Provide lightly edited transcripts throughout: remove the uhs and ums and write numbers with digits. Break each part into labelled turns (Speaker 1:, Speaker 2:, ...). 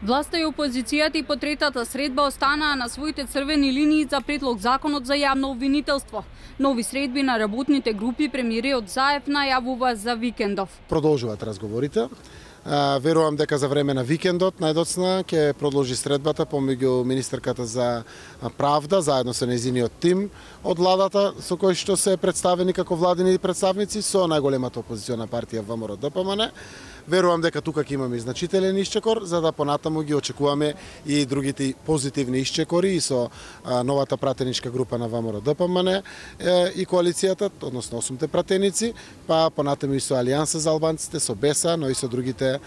Speaker 1: Власта и опозицијата и по третата средба останаа на своите црвени линии за предлог законот за јавно обвинителство. Нови средби на работните групи премиерот Заев најавува за викендов.
Speaker 2: Продолжуваат разговорите. Верувам дека за време на викендот најдоцна ќе продолжи средбата помеѓу министерката за правда заедно со нејзиниот тим од владата со кој што се представени како владини представници со најголемата опозициона партија ВМРО-ДПМН. Верувам дека тука ќе имаме значителен исчекор, за да понатаму ги очекуваме и другите позитивни исчекори и со новата пратеничка група на ВМРО-ДПМН и коалицијата, односно 8 пратеници, па понатаму и со Алијанса за албанците, со БЕСА, но и со другите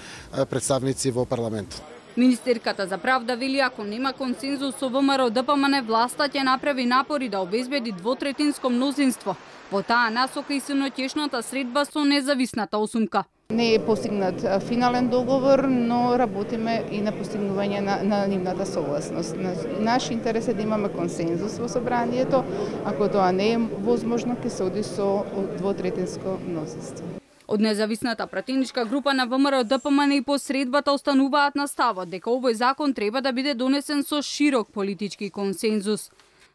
Speaker 2: представници во парламентот.
Speaker 1: Министерката за правда вели ако нема консензус со ВМРО-ДПМН, власта ќе направи напори да обезбеди двотретинско мнозинство. Во таа насока и синоќешната средба со независната осумка.
Speaker 3: Не е постигнат финален договор, но работиме и на постигнување на нивната согласност. Наш интерес е да имаме консензус во собранието, ако тоа не е возможно, ќе се оди со двотретинско мнозинство.
Speaker 1: Од независната пратеничка група на ВМРО-ДПМН и по средбата остануваат на ставот дека овој закон треба да биде донесен со широк политички консензус.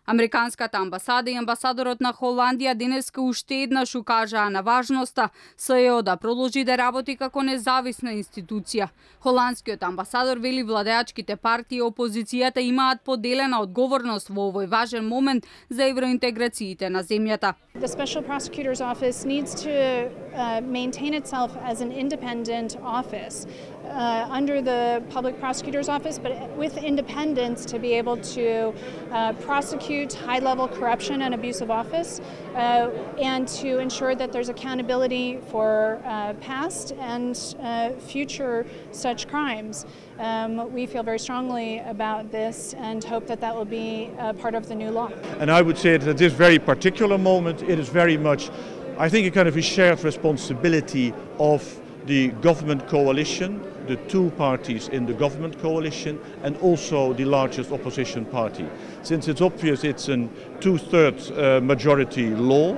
Speaker 1: Американската амбасада и амбасадорот на Холандија денеска уште еднаш укажаа на важноста СЈО да продолжи да работи како независна институција. Холандскиот амбасадор вели владеачките партии и опозицијата имаат поделена одговорност во овој важен момент за евроинтеграциите на земјата.
Speaker 4: The Special Prosecutor's Office needs to maintain itself as an independent office under the Public Prosecutor's Office, but with independence to be able to prosecute high-level corruption and abuse of office, and to ensure that there's accountability for past and future such crimes. We feel very strongly about this and hope that that will be part of the new law.
Speaker 5: And I would say that at this very particular moment, it is very much, I think, a kind of a shared responsibility of the government coalition, the two parties in the government coalition, and also the largest opposition party. Since it's obvious it's a two-thirds majority law,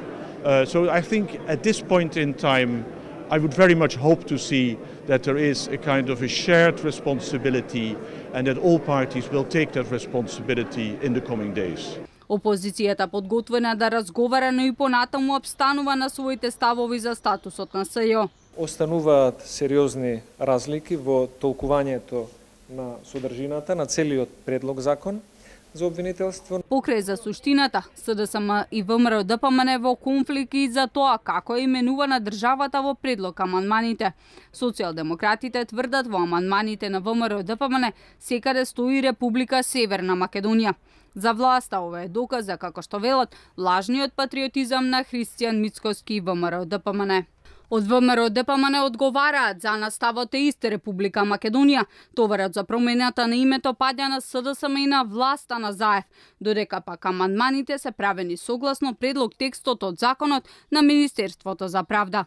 Speaker 5: so I think at this point in time, I would very much hope to see that there is a kind of a shared responsibility and that all parties will take that responsibility in the coming days.
Speaker 1: Опозицијата подготвена да разговара, но и понатаму обстанува на своите ставови за статусот на СЈО.
Speaker 6: Остануваат сериозни разлики во толкувањето на содржината на целиот предлог закон за обвинителство.
Speaker 1: Покрај за суштината, СДСМ и ВМРО-ДПМН во конфликт и за тоа како е именувана државата во предлог амандманите. Социјалдемократите тврдат во амандманите на ВМРО-ДПМН секаде стои Република Северна Македонија. За власта ова е доказ за, како што велат, лажниот патриотизам на Христијан Мицкоски и ВМРО-ДПМН. Од ВМРО-ДПМН одговараат за наставот е ист Република Македонија. Товарот за промената на името паѓа на СДСМ и на власта на Заев, додека пак амандманите се правени согласно предлог текстот од законот на Министерството за правда.